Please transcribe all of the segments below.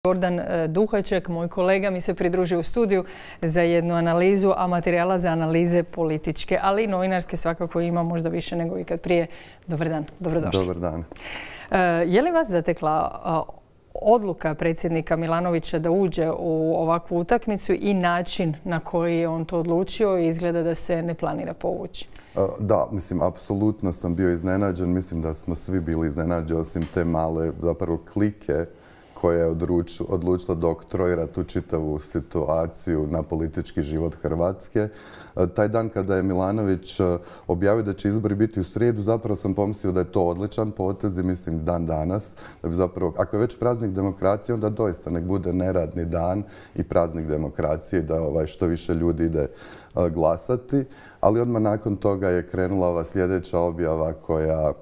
Gordan Duhaček, moj kolega, mi se pridružio u studiju za jednu analizu, a materijala za analize političke, ali i novinarske svakako ima možda više nego ikad prije. Dobar dan, dobrodošli. Dobar dan. Je li vas zatekla odluka predsjednika Milanovića da uđe u ovakvu utakmicu i način na koji je on to odlučio i izgleda da se ne planira povući? Da, mislim, apsolutno sam bio iznenađen. Mislim da smo svi bili iznenađeni osim te male zapravo klike koja je odlučila da oktroira tu čitavu situaciju na politički život Hrvatske. Taj dan kada je Milanović objavio da će izbori biti u srijedu, zapravo sam pomislio da je to odličan potez i mislim dan danas. Da bi zapravo, ako je već praznik demokracije, onda doista nek bude neradni dan i praznik demokracije da što više ljudi ide glasati. Ali odmah nakon toga je krenula ova sljedeća objava koja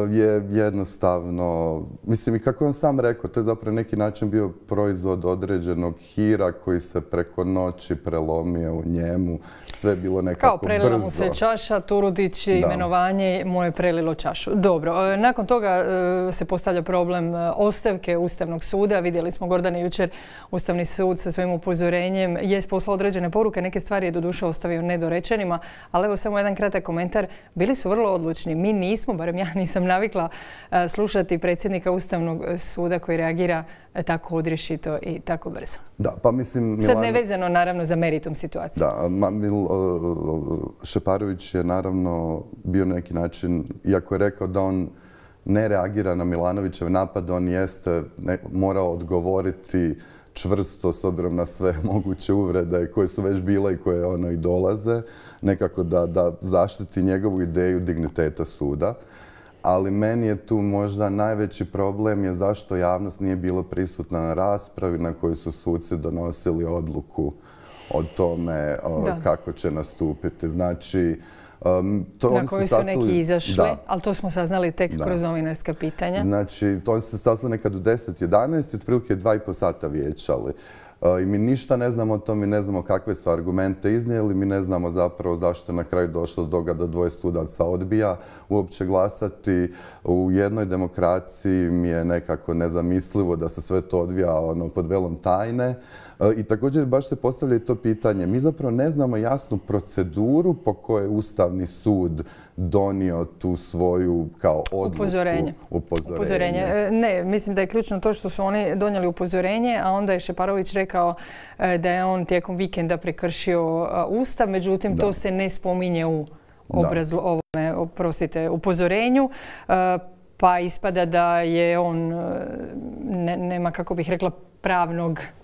je jednostavno, mislim i kako je on sam rekao, to je zapravo neki način bio proizvod određenog hira koji se preko noći prelomio u njemu. Sve je bilo nekako brzo. Kao prelila mu se čaša, Turudić, imenovanje mu je prelilo čašu. Dobro, nakon toga se postavlja problem ostavke Ustavnog suda. Vidjeli smo, Gordane, jučer Ustavni sud sa svojim upozorenjem je poslao određene poruke, neke stvari je doduše ostavio nedorečenima, ali evo samo jedan kratak komentar. Bili su vrlo odlučni. Mi nismo, barem ja nisam navikla slušati predsjednika Ustavnog suda koji reagira tako odrješito i tako brzo. Da, pa mislim... Sad nevezano naravno za meritum situacije. Da, Šeparović je naravno bio na neki način, iako je rekao da on ne reagira na Milanovićev napad, on jeste morao odgovoriti čvrsto s obzirom na sve moguće uvrede koje su već bile i koje i dolaze, nekako da zaštiti njegovu ideju digniteta suda. Ali meni je tu možda najveći problem je zašto javnost nije bila prisutna na raspravi na kojoj su suci donosili odluku o tome kako će nastupiti. Znači, na koji su neki izašli, ali to smo saznali tek kroz novinarska pitanja. Znači, to se saznali nekad u 10-11 i otprilike 2,5 sata vijećali. I mi ništa ne znamo o tom, mi ne znamo kakve su argumente iznijeli, mi ne znamo zapravo zašto je na kraju došlo do toga da dvoje sudaca odbija uopće glasati. U jednoj demokraciji mi je nekako nezamislivo da se sve to odvija pod velom tajne. I također baš se postavlja i to pitanje. Mi zapravo ne znamo jasnu proceduru po kojoj je Ustavni sud donio tu svoju kao odluku. Upozorenje. Ne, mislim da je ključno to što su oni donijeli upozorenje, a onda je Šeparović rekao da je on tijekom vikenda prekršio Ustav, međutim to se ne spominje u upozorenju. Pa ispada da je on, nema kako bih rekla,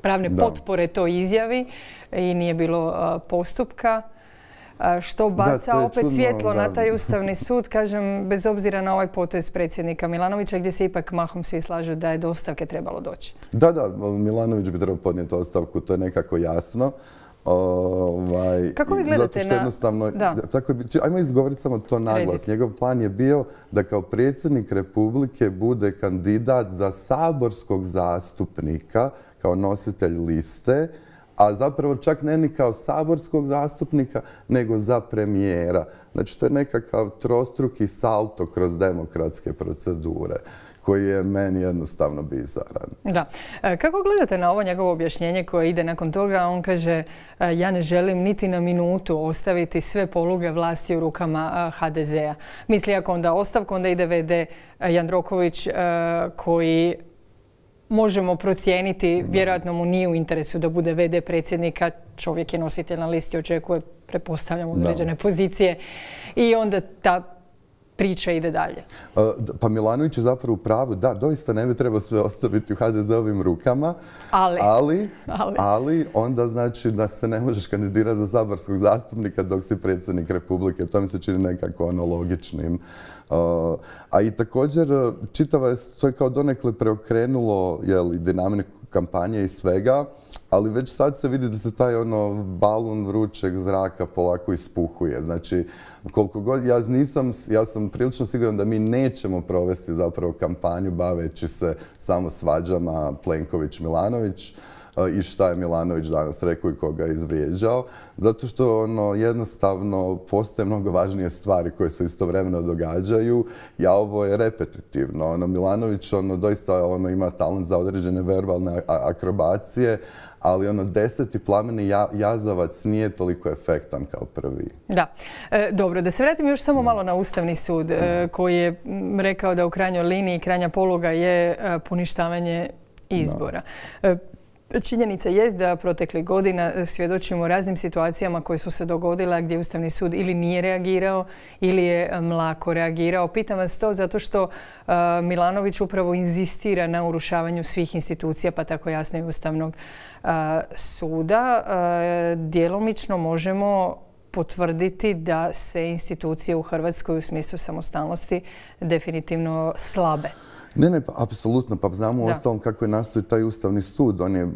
pravne potpore toj izjavi i nije bilo postupka. Što baca opet svjetlo na taj Ustavni sud, kažem, bez obzira na ovaj potez predsjednika Milanovića, gdje se ipak mahom svi slažu da je do ostavke trebalo doći. Da, Milanović bi trebao podnijeti ostavku, to je nekako jasno. Kako vi gledate na... Ajmo izgovoriti samo to naglas. Njegov plan je bio da kao predsjednik Republike bude kandidat za saborskog zastupnika kao nositelj liste, a zapravo čak ne ni kao saborskog zastupnika, nego za premijera. Znači, to je nekakav trostruki salto kroz demokratske procedure koji je meni jednostavno bizaran. Da. Kako gledate na ovo njegovo objašnjenje koje ide nakon toga? On kaže, ja ne želim niti na minutu ostaviti sve poluge vlasti u rukama HDZ-a. Misli, ako onda ostavku, onda ide VD Jandroković koji možemo procijeniti, vjerojatno mu nije u interesu da bude VD predsjednika, čovjek je nositelj na listi, očekuje, pretpostavljam, određene pozicije i onda ta priča ide dalje. Pa Milanović je zapravo u pravu, da, doista ne bi trebao sve ostaviti u HDZ-ovim rukama, ali onda znači da se ne možeš kandidirati za saborskog zastupnika dok si predsjednik Republike. To mi se čini nekako logičnim. A i također čitava je to kao donekle preokrenulo dinamiku kampanje i svega, ali već sad se vidi da se taj balon vrućeg zraka polako ispuhuje. Znači, koliko god ja sam prilično siguran da mi nećemo provesti zapravo kampanju baveći se samo svađama Plenković-Milanović. i šta je Milanović danas rekao i koga je izvrijeđao. Zato što jednostavno postoje mnogo važnije stvari koje se istovremeno događaju, a ovo je repetitivno. Milanović doista ima talent za određene verbalne akrobacije, ali 10. plameni jazavac nije toliko efektan kao prvi. Da. Dobro, da se vratim još samo malo na Ustavni sud koji je rekao da u krajnjoj liniji krajnja poluga je poništavanje izbora. Činjenica jest da proteklih godina svjedočimo raznim situacijama koje su se dogodile gdje Ustavni sud ili nije reagirao ili je mlako reagirao. Pitam vas to zato što Milanović upravo inzistira na urušavanju svih institucija, pa tako jasno i Ustavnog suda. Djelomično možemo potvrditi da se institucije u Hrvatskoj u smislu samostalnosti definitivno slabe. Ne, pa apsolutno. Pa znamo u ostalom kako je nastao taj Ustavni sud. On je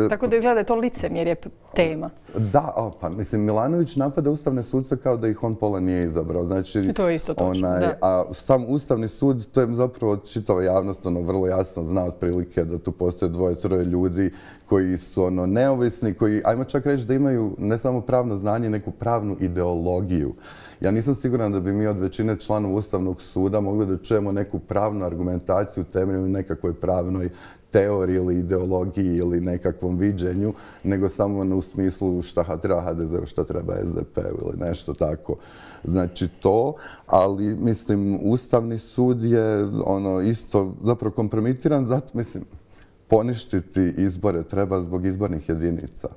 Tako da izgleda da je to licemjerje tema. Da, pa mislim, Milanović napada Ustavne sudce kao da ih on pola nije izabrao. Znači, to je isto točno, da. A sam Ustavni sud, to je zapravo čitava javnost vrlo jasno zna otprilike da tu postoje 2-3 ljudi koji su neovisni, koji, ajmo čak reći da imaju ne samo pravno znanje, neku pravnu ideologiju. Ja nisam siguran da bi mi od većine članova Ustavnog suda mogli da čujemo neku pravnu argumentaciju temelju nekakvoj pravnoj teoriji ili ideologiji ili nekakvom viđenju, nego samo u smislu šta treba HDZ-u, šta treba SDP-u ili nešto tako. Znači to, ali mislim Ustavni sud je isto zapravo kompromitiran, zato mislim poništiti izbore treba zbog izbornih jedinica.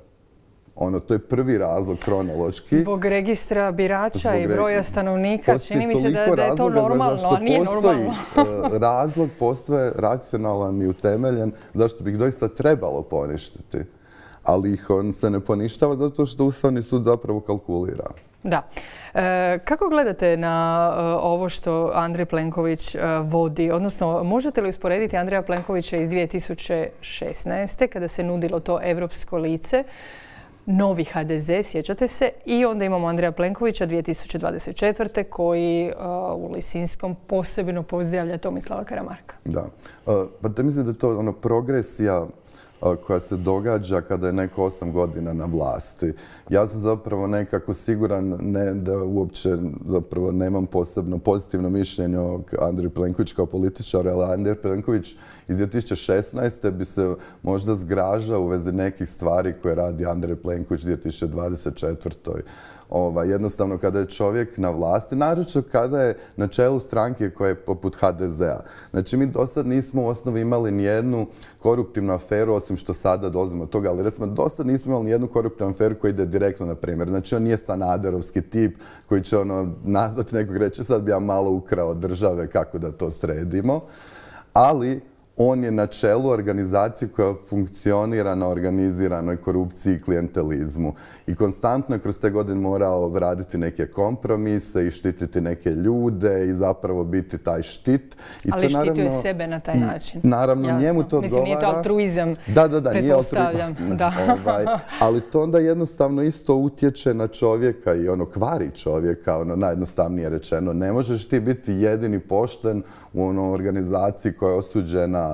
To je prvi razlog kronološki. Zbog registra birača i broja stanovnika. Čini mi se da je to normalno, a nije normalno. Razlog postoje racionalan i utemeljen zašto bi ih doista trebalo poništiti. Ali ih se ne poništava zato što Ustavni sud zapravo kalkulira. Da. Kako gledate na ovo što Andrej Plenković vodi? Odnosno, možete li usporediti Andreja Plenkovića iz 2016. kada se nudilo to europsko lice, novi HDZ, sjećate se, i onda imamo Andreja Plenkovića 2024. koji u Lisinskom posebno pozdravlja Tomislava Karamarka. Da. Pa da mislim da je to progresija koja se događa kada je neko 8 godina na vlasti. Ja sam zapravo nekako siguran, ne da uopće zapravo nemam posebno pozitivno mišljenje o Andreju Plenkoviću kao političaru, ali Andrej Plenković iz 2016. bi se možda zgražao u vezi nekih stvari koje radi Andrej Plenković 2024. Jednostavno kada je čovjek na vlasti, naročito kada je na čelu stranke koja je poput HDZ-a. Znači mi do sad nismo u osnovi imali nijednu koruptivnu aferu, osim što sada dolazimo od toga, ali recimo do sad nismo imali nijednu koruptivnu aferu koja ide direktno na primjer. Znači on nije Sanaderovski tip koji će nazvati nekog reći sad bi ja malo ukrao države kako da to sredimo, ali on je na čelu organizacije koja funkcionira na organiziranoj korupciji i klijentelizmu. I konstantno je kroz te godine morao raditi neke kompromise i štititi neke ljude i zapravo biti taj štit. Ali štitio je sebe na taj način. Naravno, njemu to odgovara. Mislim, nije to altruizam. Da, nije altruizam. Ali to onda jednostavno isto utječe na čovjeka i kvari čovjeka, najjednostavnije rečeno. Ne možeš ti biti jedini pošten u organizaciji koja je osuđena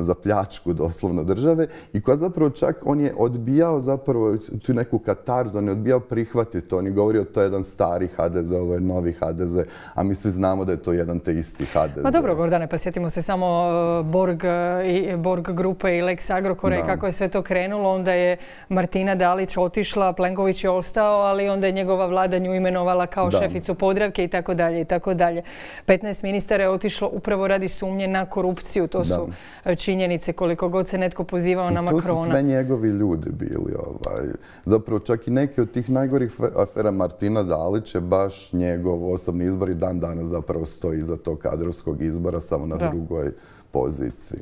za pljačku doslovno države i koja zapravo čak on je odbijao zapravo tu neku katarzu, on je odbijao prihvatiti to. On je govorio to je jedan stari HDZ, ovo je novi HDZ, a mi svi znamo da je to jedan te isti HDZ. Pa dobro, Gordane, pa sjetimo se samo Borg grupe i Lex Agrokora i kako je sve to krenulo. Onda je Martina Dalić otišla, Plenković je ostao, ali onda je njegova vlada nju imenovala kao šeficu Podravke i tako dalje i tako dalje. 15 ministara je otišlo upravo radi sumnje na korupciju. To su činjenice koliko god se netko pozivao na Makrona. I to su sve njegovi ljudi bili. Zapravo čak i neke od tih najgorih afera Martina Dalić je baš njegov osobni izbor i dan danas zapravo stoji iza tog kadrovskog izbora samo na drugoj poziciji.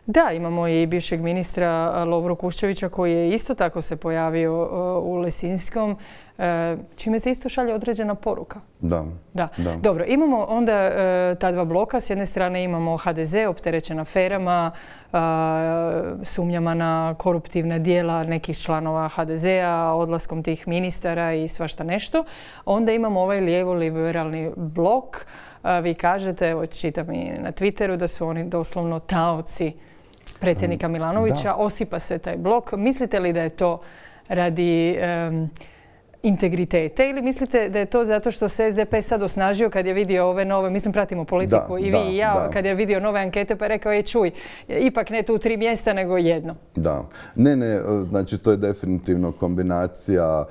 Da, imamo i bivšeg ministra Lovru Kuščevića koji je isto tako se pojavio u Lisinskom, čime se isto šalje određena poruka. Da. Dobro, imamo onda ta dva bloka. S jedne strane imamo HDZ opterećen aferama, sumnjama na koruptivna djela nekih članova HDZ-a, odlaskom tih ministara i svašta nešto. Onda imamo ovaj lijevo-liberalni blok. Vi kažete, evo čitam i na Twitteru, da su oni doslovno taoci predsjednika Milanovića, osipa se taj blok. Mislite li da je to radi integritete ili mislite da je to zato što se SDP sad osnažio kad je vidio ove nove, mislim pratimo politiku i vi i ja, kad je vidio nove ankete pa je rekao čuj, ipak ne tu 3 mjesta nego jedno. Da. Ne, znači to je definitivno kombinacija.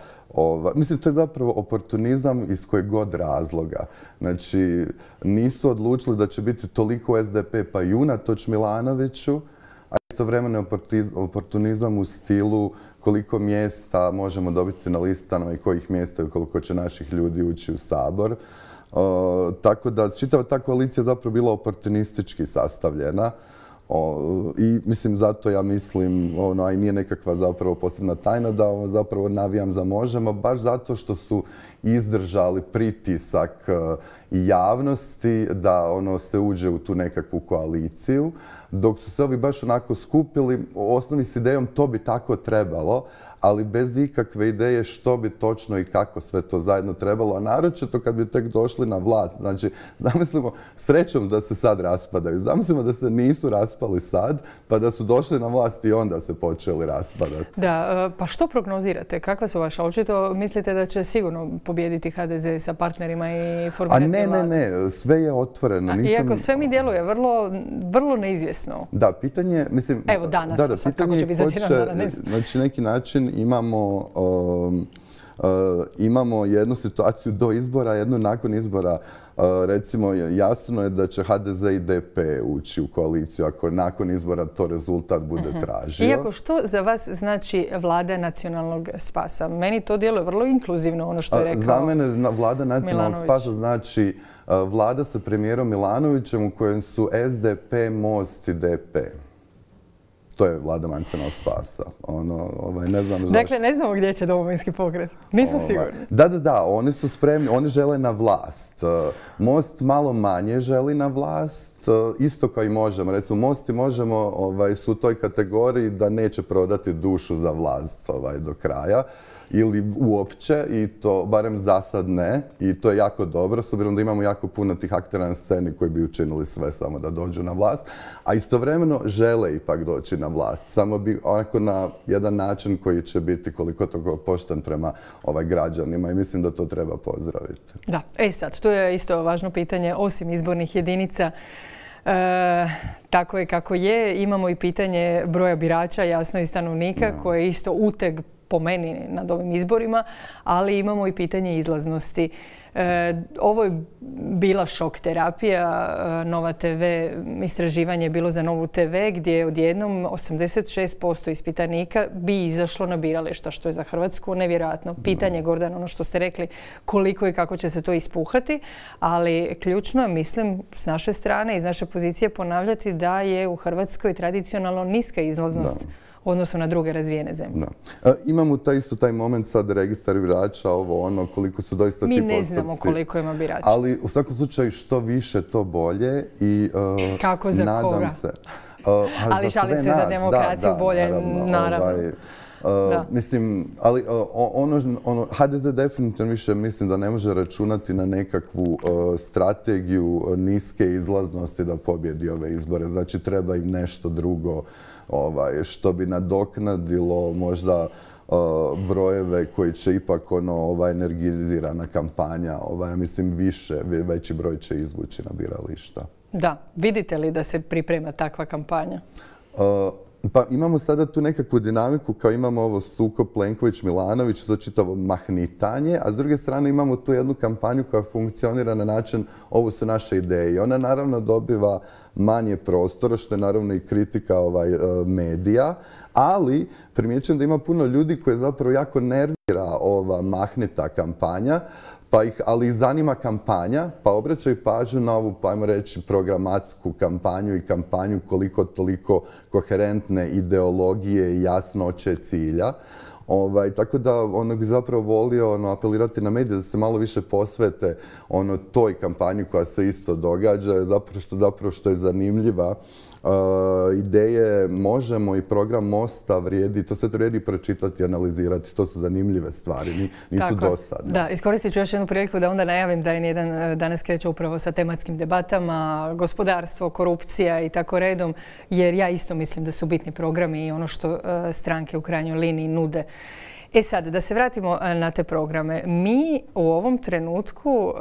Mislim, to je zapravo oportunizam iz kojeg god razloga. Znači, nisu odlučili da će biti toliko SDP pa i unatoč Milanoviću, a istovremeno oportunizam u stilu koliko mjesta možemo dobiti na listama i kojih mjesta i koliko će naših ljudi ući u Sabor. Tako da čitava ta koalicija zapravo bila oportunistički sastavljena. I mislim zato ja mislim, a i nije nekakva zapravo posebna tajna da zapravo navijam za Možemo, baš zato što su izdržali pritisak i javnosti da se uđe u tu nekakvu koaliciju, dok su se ovi baš onako skupili u osnovi s idejom to bi tako trebalo, ali bez ikakve ideje što bi točno i kako sve to zajedno trebalo, a naročito kad bi tek došli na vlast. Znači, zamislimo, srećom da se sad raspadaju, zamislimo da se nisu raspali sad, pa da su došli na vlast i onda se počeli raspadati. Da, pa što prognozirate? Kakva su vaša? Očito mislite da će sigurno pobijediti HDZ sa partnerima i formirati vladu? Ne, sve je otvoreno. Iako sve mi djeluje vrlo neizvjesno. Da, pitanje, mislim... Evo danas, sad kako će biti za tjedan dana, ne znam. Znači, neki način imamo jednu situaciju do izbora, jednu nakon izbora. Recimo, jasno je da će HDZ i DP ući u koaliciju ako nakon izbora to rezultat bude tražio. Iako što za vas znači vlada nacionalnog spasa? Meni to djeluje vrlo inkluzivno, ono što je rekao Milanović. Za mene vlada nacionalnog spasa znači vlada sa premijerom Milanovićem u kojem su SDP, Most i DP. To je vlada nacionalnog spasa. Ne znam zašto. Dakle, ne znamo gdje će Domovinski pokret. Nisam sigurna. Da, oni su spremni, oni žele na vlast. Most malo manje želi na vlast, isto kao i Možemo. Recimo, Most i Možemo su u toj kategoriji da neće prodati dušu za vlast do kraja. Ili uopće, i to barem za sad ne, i to je jako dobro, s obzirom da imamo jako puno tih aktera na sceni koji bi učinili sve samo da dođu na vlast, a istovremeno žele ipak doći na vlast, samo bi onako na jedan način koji će biti koliko toliko pošten prema građanima i mislim da to treba pozdraviti. Da, sad, tu je isto važno pitanje, osim izbornih jedinica, tako je kako je, imamo i pitanje broja birača, jasno i stanovnika, koje je isto uteg po meni nad ovim izborima, ali imamo i pitanje izlaznosti. Ovo je bila šok terapija. Nova TV, istraživanje je bilo za Novu TV gdje je odjednom 86% ispitanika bi izašlo na birališta, što je za Hrvatsku nevjerojatno. Pitanje, Gordan, ono što ste rekli, koliko i kako će se to ispuhati, ali ključno je, mislim, s naše strane, iz naše pozicije ponavljati da je u Hrvatskoj tradicionalno niska izlaznost u odnosu na druge razvijene zemlje. Imamo taj moment sad registar birača, koliko su doista ti postupci. Mi ne znamo koliko ima birača. Ali u svakom slučaju što više to bolje i kako za nadam koga? Se. Ali šalim se za demokraciju bolje, naravno. Mislim, ali HDZ definitivno više mislim da ne može računati na nekakvu strategiju niske izlaznosti da pobjedi ove izbore. Znači treba im nešto drugo što bi nadoknadilo možda brojeve koji će ipak energizirana kampanja, mislim veći broj će izvući na birališta. Da, vidite li da se priprema takva kampanja? Pa imamo sada tu nekakvu dinamiku kao imamo ovo sukob Plenković-Milanović, to čitavo mahnitanje, a s druge strane imamo tu jednu kampanju koja funkcionira na način ovo su naše ideje. I ona naravno dobiva manje prostora, što je naravno i kritika medija, ali primjećujem da ima puno ljudi koje zapravo jako nervira ova mahnita kampanja, ali ih zanima kampanja, pa obraćaju pažnju na ovu, pa ajmo reći, programatsku kampanju i kampanju koliko toliko koherentne ideologije i jasnoće cilja. Tako da bi zapravo volio apelirati na medije da se malo više posvete toj kampanji koja se isto događa, zapravo što je zanimljiva Ideje Možemo i program Mosta vrijedi, to sve vrijedi pročitati i analizirati. To su zanimljive stvari, nisu dosadne. Da, iskoristit ću još jednu priliku da onda najavim da N1 danas kreće upravo sa tematskim debatama, gospodarstvo, korupcija i tako redom, jer ja isto mislim da su bitni programi i ono što stranke u krajnjoj liniji nude. E sad, da se vratimo na te programe. Mi u ovom trenutku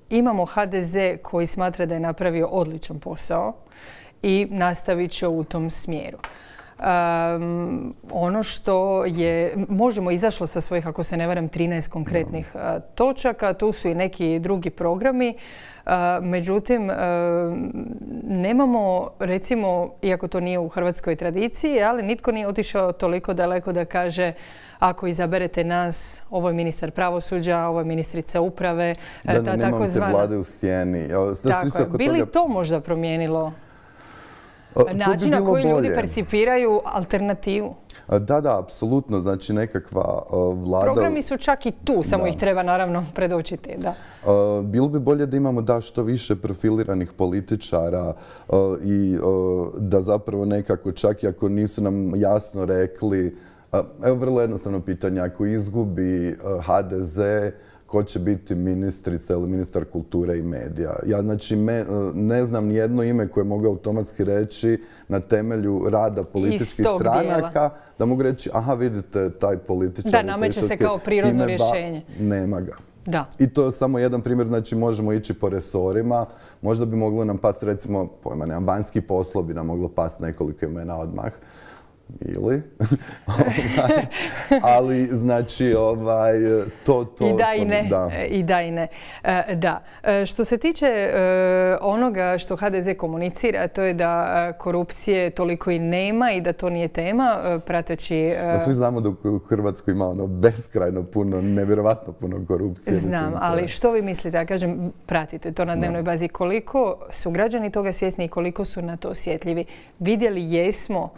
imamo HDZ koji smatra da je napravio odličan posao i nastavit će u tom smjeru. Ono što je, Možemo izašlo sa svojih, ako se ne varam, 13 konkretnih točaka. Tu su i neki drugi programi. Međutim, nemamo, recimo, iako to nije u hrvatskoj tradiciji, ali nitko nije otišao toliko daleko da kaže ako izaberete nas, ovo je ministar pravosuđa, ovo je ministrica uprave, da nemamo te vlade u sjeni. Tako je. Bi li to možda promijenilo način na koji ljudi percipiraju alternativu? Da, apsolutno. Znači nekakva vlada... Programi su čak i tu, samo ih treba naravno predočiti. Bilo bi bolje da imamo što više profiliranih političara i da zapravo nekako, čak i ako nisu nam jasno rekli, evo vrlo jednostavno pitanje, ako izgubi HDZ, ko će biti ministrica ili ministar kulture i medija. Ja znači ne znam nijedno ime koje mogu automatski reći na temelju rada političkih stranaka, da mogu reći, aha, vidite, taj političar... Da, nameće se kao prirodno rješenje. Nema ga. Da. I to je samo jedan primjer, znači možemo ići po resorima, možda bi moglo nam pasti, recimo, pojma nemam, vanjski poslovi bi nam moglo pasti nekoliko imena odmah. Ili, ali znači to... I da i ne. I da i ne. Da. Što se tiče onoga što HDZ komunicira, to je da korupcije toliko i nema i da to nije tema, prateći... Svi znamo da u Hrvatskoj ima beskrajno puno, nevjerovatno puno korupcije. Znam, ali što vi mislite? Ja kažem, pratite to na dnevnoj bazi. Koliko su građani toga svjesni i koliko su na to osjetljivi? Vidjeli jesmo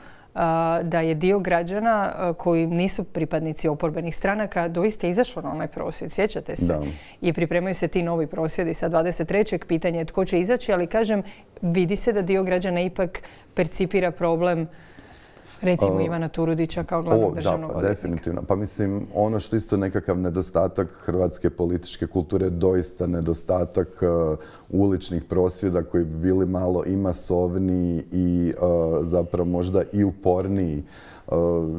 da je dio građana koji nisu pripadnici oporbenih stranaka doista izašlo na onaj prosvjed. Sjećate se? Da. I pripremaju se ti novi prosvjedi sa 23. Pitanje je tko će izaći, ali kažem, vidi se da dio građana ipak percipira problem, recimo Ivana Turudića kao glavnog državnog odvjetnika. Definitivno. Pa mislim, ono što isto nekakav nedostatak hrvatske političke kulture, doista nedostatak uličnih prosvjeda koji bi bili malo i masovniji i zapravo možda i uporniji.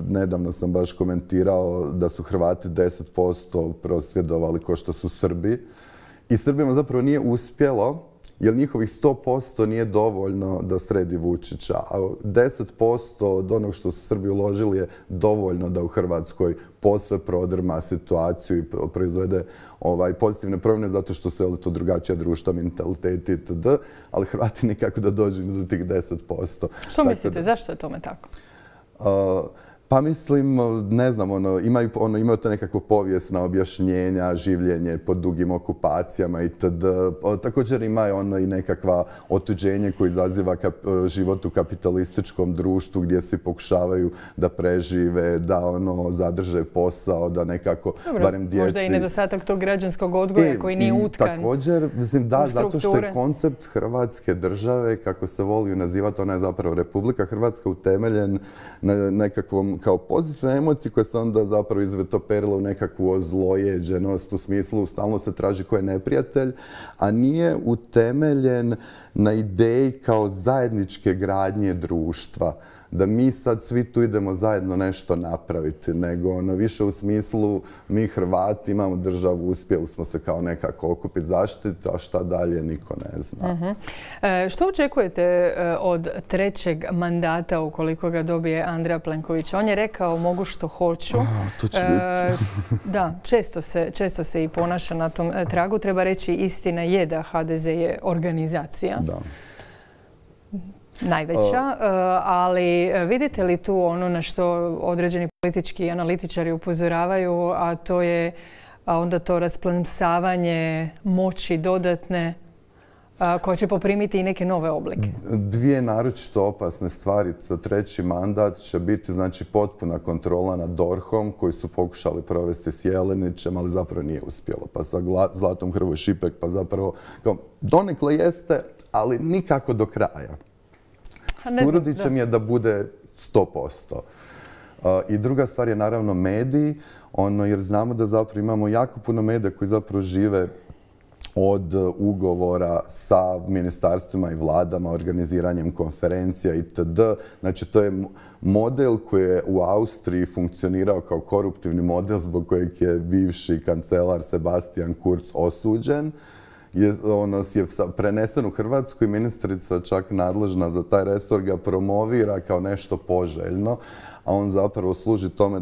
Nedavno sam baš komentirao da su Hrvati 10% prosvjedovali kao što su Srbi. I Srbima zapravo nije uspjelo, jer njihovih 100% nije dovoljno da sredi Vučića, a 10% od onog što su Srbi uložili je dovoljno da u Hrvatskoj posve prodrma situaciju i proizvede pozitivne promjene zato što su to drugačija društva, mentaliteti itd. Ali Hrvati nikako da dođu do tih 10%. Što mislite, zašto je tome tako? Pa mislim, ne znam, imaju to nekakvo povijesna objašnjenja, življenje pod dugim okupacijama itd. Također ima i nekakva otuđenje koje izaziva život u kapitalističkom društvu gdje svi pokušavaju da prežive, da zadrže posao, da nekako, barem djeci... Možda i nedostatak tog građanskog odgoja koji nije utkan. Također, mislim, da, zato što je koncept Hrvatske države, kako se voli nazivati, ona je zapravo Republika Hrvatska utemeljen na nekakvom kao pozitivne emocije koje se onda zapravo izvetoperila u nekakvu ozlojeđenost, u smislu stalno se traži ko je neprijatelj, a nije utemeljen na ideji kao zajedničke gradnje društva. Da mi sad svi tu idemo zajedno nešto napraviti, nego više u smislu mi Hrvati imamo državu, uspjeli smo se kao nekako okupiti, zaštiti, a šta dalje niko ne zna. Što očekujete od trećeg mandata ukoliko ga dobije Andreja Plenkovića? On je rekao mogu što hoću. To će biti. Da, često se i ponaša na tom tragu. Treba reći, istina je da HDZ je organizacija. Da. Najveća, ali vidite li tu ono na što određeni politički analitičari upozoravaju, a to je onda to rasplamsavanje moći dodatne koja će poprimiti i neke nove oblike? Dvije naročito opasne stvari za treći mandat će biti znači potpuna kontrola nad DORH-om koji su pokušali provesti s Jelenićem, ali zapravo nije uspjelo. Pa sa Zlatom Hrvoj Šipek, pa zapravo donekle jeste, ali nikako do kraja. S Turudićem je da bude 100%. I druga stvar je naravno mediji, jer znamo da zapravo imamo jako puno medija koji zapravo žive od ugovora sa ministarstvima i vladama, organiziranjem konferencija itd. Znači, to je model koji je u Austriji funkcionirao kao koruptivni model zbog kojeg je bivši kancelar Sebastian Kurz osuđen. Je prenesen u Hrvatsku i ministrica čak nadležna za taj resor ga promovira kao nešto poželjno, a on zapravo služi tome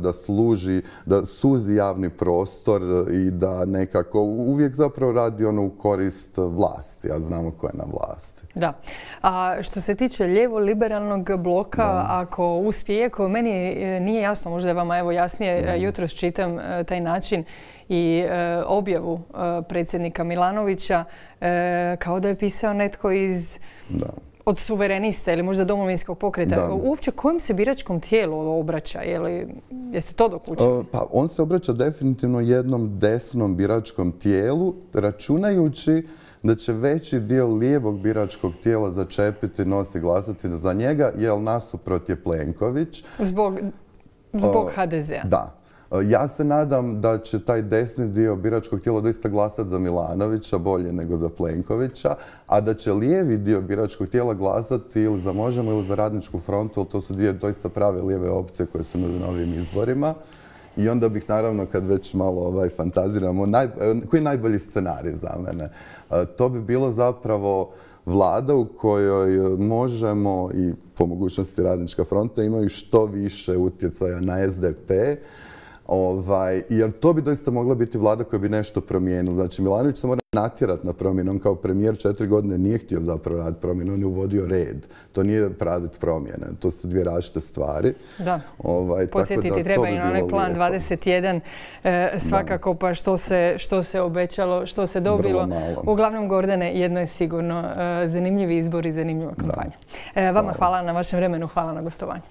da suzi javni prostor i da nekako uvijek zapravo radi u korist vlasti, a znamo ko je na vlasti. Da. A što se tiče lijevo-liberalnog bloka, ako uspije, iako meni nije jasno, možda je vama jasnije, jutros čitam taj način i objavu predsjednika Milanovića, kao da je pisao netko od suverenista ili možda domovinskog pokreta. Uopće kojem se biračkom tijelu obraća? Jeste to dokučili? Pa on se obraća definitivno jednom desnom biračkom tijelu, računajući da će veći dio lijevog biračkog tijela začepiti nos i glasati za njega, jer nasuprot je Plenković. Zbog HDZ-a? Da. Ja se nadam da će taj desni dio biračkog tijela doista glasati za Milanovića, bolje nego za Plenkovića, a da će lijevi dio biračkog tijela glasati ili za Možemo ili za Radničku frontu, ali to su dvije doista prave lijeve opcije koje su nude na ovim izborima. I onda bih naravno, kad već malo fantaziramo, koji je najbolji scenarij za mene? To bi bilo zapravo vlada u kojoj Možemo i po mogućnosti Radnička fronta imaju što više utjecaja na SDP, jer to bi doista mogla biti vlada koja bi nešto promijenila. Znači, Milanović se mora natjerati na promjenu. On kao premijer 4 godine nije htio zapravo raditi promjenu, on je uvodio red. To nije raditi promjene. To su dvije različite stvari. Da. Podsjetiti treba i na onaj plan 21 svakako, pa što se obećalo, što se dobilo. Uglavnom, Gordane, jedno je sigurno, zanimljivi izbor i zanimljiva kampanja. Vama hvala na vašem vremenu, hvala na gostovanju.